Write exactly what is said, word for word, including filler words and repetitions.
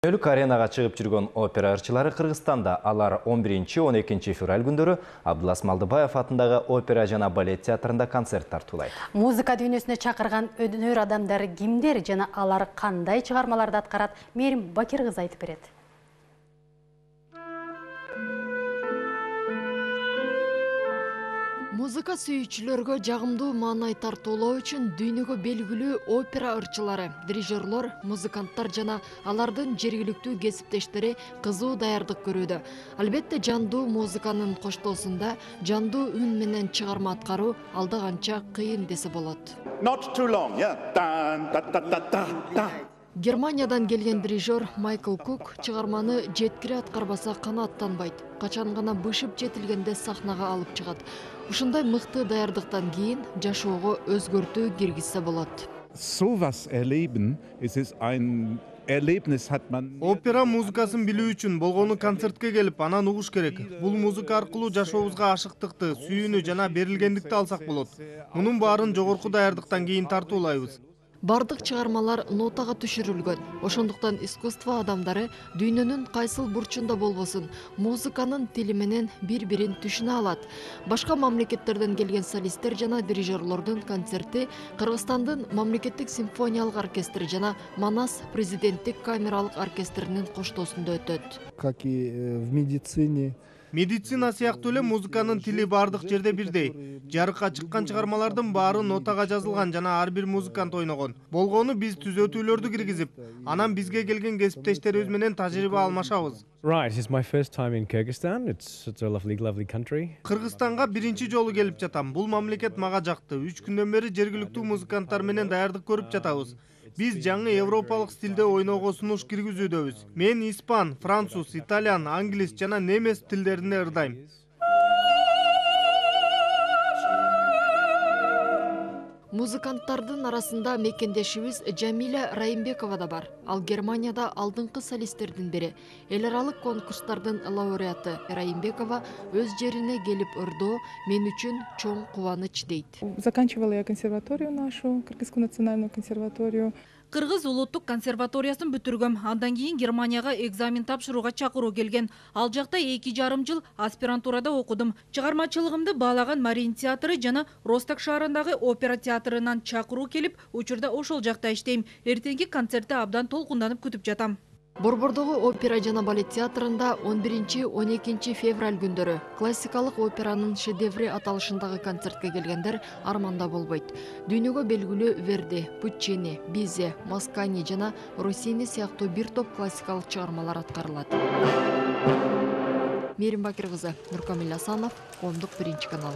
Өлүк аренага чыгып жүргөн опера ырчылары Кыргызстанда. Алар он биринчи он экинчи февраль күндөрү Абдылас Малдыбаев атындагы опера жана балет театрында концерт тартуулайт. Музыка дүйнөсүнө чакырган өнөр адамдары кимдер жана алар кандай чыгармаларды аткарат? Мерим Бакир кызы айтып берет. Музыка сүйүүчүлөргө жагымдуу маанай тартуулоо үчүн дүйнөгө белгилүү опера ырчылары, дирижерлор, музыканттар жана алардын жергиликтүү кесиптештери кызуу даярдык көрүүдө. Албетте жандуу музыканын коштоосунда жандуу үн менен чыгарма аткаруу алда канча кыйын десе болот. Not too long, yeah. Германиядан келген дирижер Майкл Кук чыгарманы жеткире аткарбаса канааттанбайт. Качан гана бышып жетилгенде сахнага алып чыгат. Ушундай мыкты даярдыктан кийин жашоого өзгөртүү киргизсе болот. Sowas erleben, es ist ein Erlebnis hat man. Опера музыкасын билүү үчүн болгону концертке келип, анан угуш керек. Бул музыка аркылуу жашообузга ашыктыкты, сүйүүнү жана берилгендикти алсак болот. Мунун баарын жогорку даярдыктан кийин тартуулайбыз. Бардык чыгармалар нотага түшүрүлгөн. Ошондуктан искусство адамдары дүйнөнүн кайсыл бурчунда болбосун, музыканын тили менен бири-бирин түшүнө алат. Башка мамлекеттерден келген солисттер жана дирижерлордун концерти Кыргызстандын мамлекеттик симфониялык оркестри жана Манас президенттик камералык оркестринин коштоосунда өтөт. Как и в медицине. Медицина сыяктуу эле музыканын тили бардык жерде бирдей. Жарыкка чыккан чыгармалардын баары нотага жазылган жана ар бир музыкант ойногон. Болгону биз түзөтүүлөрдү киргизип, анан бизге келген кесиптештерибиз менен тажрыйба алмашабыз. Right, it's my first time in Kyrgyzstan. It's such a lovely, lovely country. Кыргызстанга биринчи жолу келип жатам. Бул мамлекет мага жакты. Үч күндөн бери жергиликтүү музыканттар менен даярдык көрүп жатабыз. Биз жаңы европалык стилде ойноого сунуш киргизүүдөбүз. Мен испан, француз, итальян, англис жана немец тилдеринде ырдайм. Музыканттардын арасында мекендешибиз Жамиля Райымбекова да бар. Ал Германияда алдыңкы солисттердин бири. Эл аралык конкурстардын лауреаты Райымбекова өз жерине келип ырдоо мен үчүн чоң кубаныч дейт. Заканчивала я консерваторию нашу, Кыргызскую национальную консерваторию. Кыргыз улуттук консерваториясын бүтүргөм. Андан кийин Германияга экзамен тапшырууга чакыруу келген. Ал жакта эки жарым жыл аспирантурада окудум. Чыгармачылыгымды баалаган Марин театры жана Росток шаарындагы опера театрынан чакыруу келип, учурда ошол жакта иштейм. Эртеңки концертти абдан толкунданып күтүп жатам. Борбордогу опера жана балет театрында он биринчи он экинчи февраль күндөрү классикалык операнын шедеври аталышындагы концертке келгендер арманда болбойт. Дүйнөгө белгилүү Верди, Пуччини, Бизе, Маскани жана Россини сыяктуу бир топ классикалык чыгармалар аткарылат. Мерим Бакир кызы, Нуркамил Асанов, Коомдук биринчи канал.